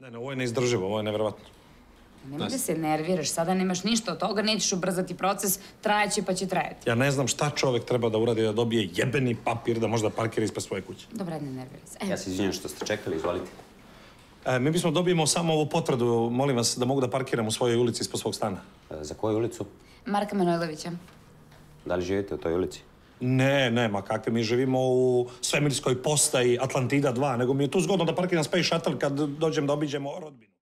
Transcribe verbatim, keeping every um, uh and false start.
Ne, ne, ovo je neizdrživo, ovo je nevjerovatno. Nemoj da se nerviraš, sada nemaš ništa od toga, nećeš ubrzati proces, trajeće pa će trajati. Ja ne znam šta čovek treba da uradi da dobije jebeni papir da možda parkira ispred svoje kuće. Dobra, ne nerviraj se. Ja se izvinjam što ste čekali, izvolite. E, mi bismo dobijemo samo ovu potvrdu, molim vas, da mogu da parkiram u svojoj ulici ispod svog stana. E, za koju ulicu? Marka Manojlovića. Da li živite u toj ulici? Ne, ne, ma kakve, mi živimo u svemirskoj postaji Atlantida dva, nego mi je tu zgodno da parkiram Space Shuttle kad dođem da obiđemo rodbinu.